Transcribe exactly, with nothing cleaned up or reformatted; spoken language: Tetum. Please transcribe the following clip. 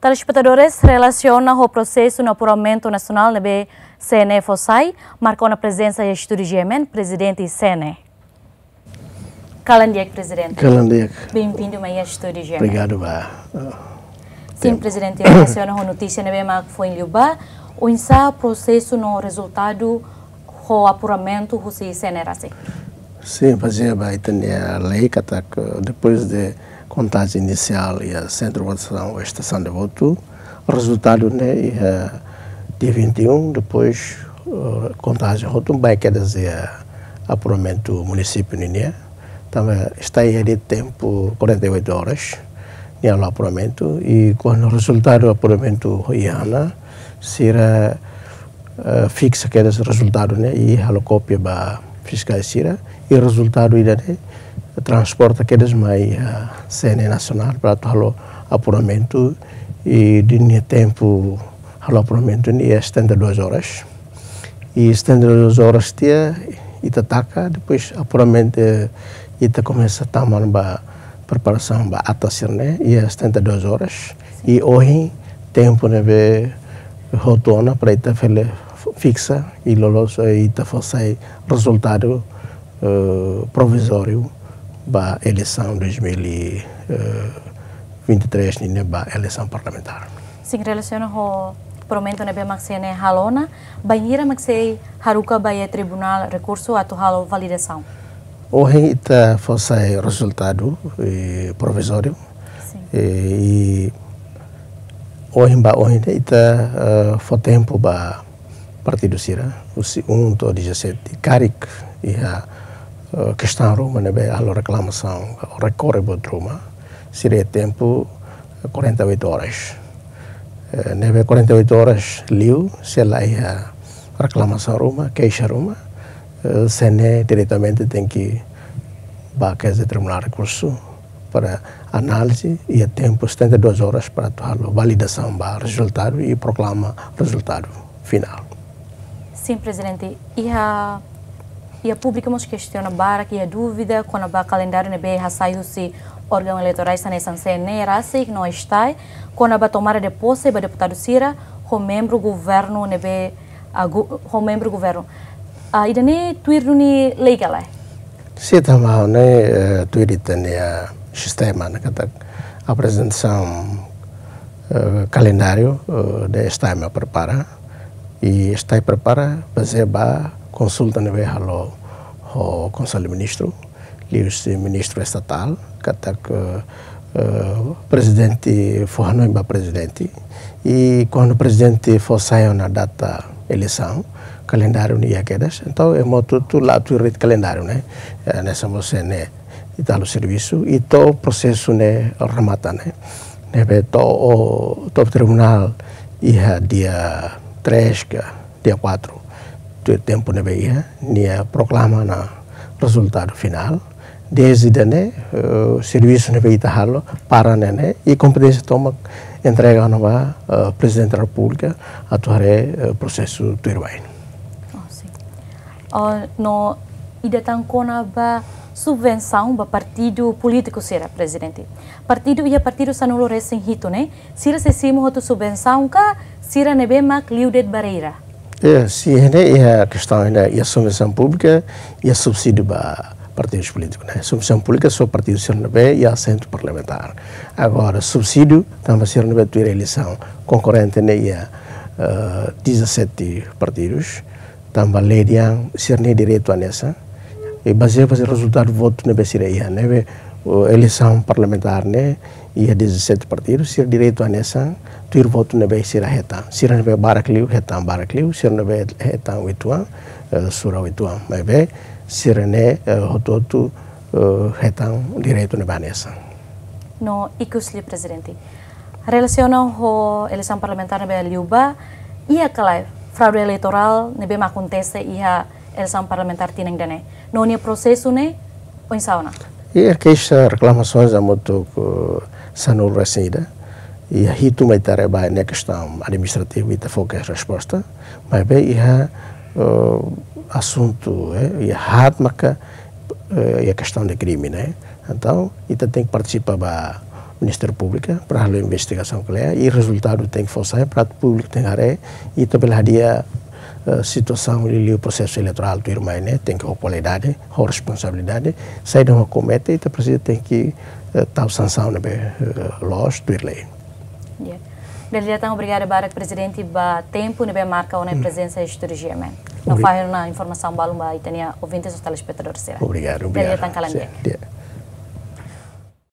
Telespetadores, relasiona ho prosesu no apuramentu nasionál ne'ebé C N E fó sai, marka ona prezensa iha estúdiu G M N, Prezidente C N E. Kalan di'ak, Prezidente. Kalan di'ak. Bem-vindu mai iha estúdiu G M N. Obrigadu ba. Sin, tempu. Prezidente, relasiona ho notísia ne'ebé mak foin liubá, oinsá prosesu no rezultadu ho apuramentu husi C N E rasik? Sin, bazeia ba ita-nia lei katak, depois de kontajen inisiál iha sentru votasaun, estasaun de votu, rezultadu ne'e iha dia vinte e um, depois, eh, kontajen hotu ba kedas iha apuramentu munisípiu ninian. Tanba ita iha tempu quarenta e oito horas nia halo apuramentu, i kuandu rezultadu apuramentu iha ona, sira, eh, fiksa kedas rezultadu ne'e i halo kópia ba fiskál sira, i rezultadu ida-ne'e transporta kedas mai, eh, C N E nasionál para atu halo apuramentu, i ninia tempu halo apuramentu ne'e setenta e duas horas. I setenta e duas horas tiha ita taka, depois apuramentu, eh, ita komesa tama ona ba preparasaun ba ata sira-ne'e iha setenta e duas horas. I ohin tempu ne'ebé hotu ona para ita fele fiksa i loloos, eh, ita fó sai rezultadu, eh, provizóriu ba eleisaun dois mil e vinte e três ninian, ba eleisaun parlamentár. Sin, relasiona ho apuramentu ne'ebé mak C N E halo ona, bainhira mak sei haruka ba iha Tribunál Rekursu atu halo validasaun? Ohin ita fó sai rezultadu, eh, provizóriu. Sin. Eh, i ohin ba ohin ne'e ita, eh, fó tempu ba partidu sira, husi um to'o dezassete, karik iha, eh, kestaun ruma ne'ebé halo reklamasaun, rekorre buat ruma, sira iha tempu quarenta e oito horas. Eh, ne'ebé quarenta e oito horas liu, se la iha reklamasaun ruma, keixa ruma, eh, C N E diretamente tenke ba kedas iha Tribunál Rekursu para análize, iha tempu setenta e duas horas para atu halo validasaun ba rezultadu i proklama rezultadu finál. Sin, Prezidente, iha, iha públiku mós kestiona barak, iha dúvida kona-ba kalendáriu ne'ebé hasai husi órgaun eleitorál hanesan C N E rasik no STAE, kona-ba tomada de pose ba deputadu sira ho membru governu ne'ebé, ah, gu-, ho membru governu. Ah, ida-ne'e tuir duni lei ka lae? Sin, tanba ne'e, eh, tuir ita-nia sistema ne'e katak aprezentasaun, eh, kalendáriu, eh, ne'e STAE mak prepara. I STAE prepara bazeia ba konsulta ne'ebé halo ho Konsellu Ministru, liuhusi Ministru Estatál, katak, eh, eh, Prezidente fó hanoin ba Prezidente. I kuandu Prezidente fó sai ona data eleisaun, kalendáriu ne'e iha kedas. Entaun, ema hotu-hotu la tuir de'it kalendáriu ne'e. Eh, hanesan mós ne'e ita halo servisu, i to'o prosesu ne'e remata ne'e. Ne'ebé to'o, to'o tribunál iha dia três ka dia quatro, tuir tempu ne'ebé iha, nia proklama ona rezultadu finál. Dezde ne'e, eh, servisu ne'ebé ita halo para ne'e, i kompeténsia tomak entrega ona ba, eh, Prezidente da Repúblika atu haree, eh, prosesu tuirmai. Oh, sin. Oh, no ida tan kona-ba subvensaun ba partidu polítiku sira, Prezidente. Partidu, iha partidu sanulu-resin-hitu ne'e, sira sei simu hotu subvensaun ka sira ne'ebé mak liu de'it barreira? Eh, sin, ne'e iha kestaun ne'e, iha subvensaun públika, iha subsídiu ba partidus polítikus ne'e. Subvensaun públika só partidu sira ne'ebé iha asentu parlamentár. Agora, subsídiu, tanba sira ne'ebé tuir eleisaun konkorrente ne'e iha, eh, dezassete partidus, tanba lei nian sira-nia direitu hanesan. I bazeia ba rezultadu votu ne'ebé sira iha, ne'ebé, o, eleisaun parlamentár ne'e iha dezassete partidu, sira direitu hanesan, tuir votu ne'ebé sira hetan. Sira ne'ebé barak liu, hetan barak liu, sira ne'ebé hetan uitoan, eh, sura uitoan. Maibé, sira-ne'e, eh, hotu-hotu, eh, hetan direitu ne'ebé hanesan. No ikus liu, Prezidente. Relasiona ho eleisaun parlamentár ne'ebé liubá, iha ka lae fraude eleitorál ne'ebé mak akontese iha eleisaun parlamentár tinan ida-ne'e? No nia prosesu ne'e oinsá ona? Iha keixa, reklamasoens hamutuk, eh, sanulu-resin-ida. Iha hitu mak ita haree ba ne'e kestaun administrativu, ita fó kedas resposta. Maibé iha, eh, asuntu, eh, iha haat maka, eh, iha kestaun de krime ne'e. Entaun, ita tenke partisipa ba Ministériu Públiku para halo investigasaun kle'an i rezultadu tenke fó sai para públiku tenke haree i ita bele hadi'a, eh, situasaun liuliu prosesu eleitorál tuirmai ne'e tenke ho kualidade, ho responsabilidade, saida mak komete ita presiza tenke, eh, tau sansaun ne'ebé, eh, loos tuir lei. Ya. Dala ida tan obrigada barak Prezidente ba tempu ne'ebé marka ona prezensa iha estúdiu G M N. No Obri- fahe ona informasaun balun ba ita-nia ouvintes no telespetadór sira. Obrigadu, Dala ida obrigadu. Tan kalan di'ak. Di'ak.